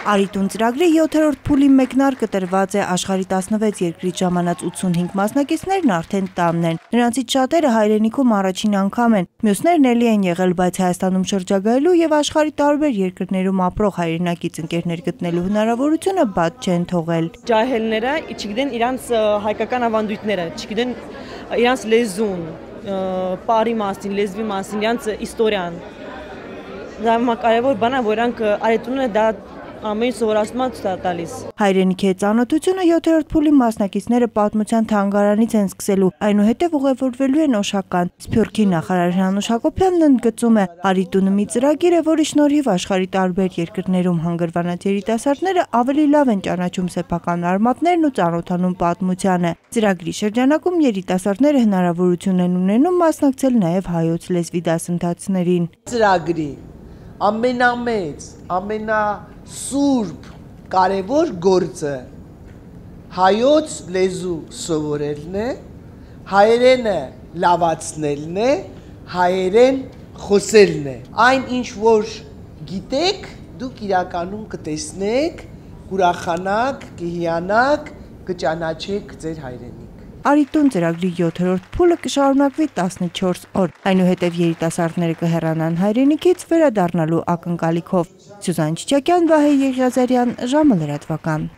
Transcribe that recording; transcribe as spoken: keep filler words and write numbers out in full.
Արիտուն ծրագրի յոթերորդ փուլի մեկնարկը տրված է աշխարհի տասնվեց երկրից ժամանած ութսունհինգ մասնակիցներն արդեն տանն են։ Նրանցից շատերը հայրենիքում առաջին անգամ են, մյուսներն էլի են եղել, բայց Հայաստանում շրջագայելու եւ աշխարհի տարբեր երկրներում ապրող հայրենակից ընկերներ գտնելու հնարավորությունը բաց չեն թողել։ Ջահելները չգիտեն իրանց հայկական ավանդույթները, չգիտեն իրանց լեզուն, պարի մասին, լեզվի մասին, իրանց իստորիան։ Դա կարևոր բան է, որ իրանք արիտունը դա ամեն սովորացման տալիս։ Հայրենիքի հետ ծանոթությունը յոթերորդ փուլի մասնակիցները պատմության թանգարանից են սկսելու, այնուհետև ուղևորվելու են Օշական։ Սփյուռքի նախարար Հրանուշ Հակոբյանն ընդգծում է, Արիտունը մի ծրագիր է, որի շնորհիվ աշխարհի տարբեր երկրներում հանգրվանած երիտասարդները ավելի լավ են ճանաչում սեփական արմատներն ու ծանոթանում պատմությանը։ Ծրագրի շրջանակում երիտասարդները հնարավորություն են ունենում մասնակցել նաև հայոց լեզվի դասընթացներին։ Ծրագրի ամենամեծ, ամենա սուրբ կարևոր գործը հայոց լեզու սովորելն է, հայերենը լավացնելն է, հայերեն խոսելն է։ Այն ինչ որ գիտեք, դուք իրականում կտեսնեք, կուրախանաք, կհիանաք, կճանաչեք ձեր հայրենիք։ Արիտուն ծրագրի յոթերորդ փուլը կշարունակվի տասնչորս օր, այնուհետև երիտասարդները կհեռանան հայրենիքից վերադառնալու ակնկալիքով։ Սյուզան Չիչակյան, Վահե Եղիազարյան, ժամը լրատվական։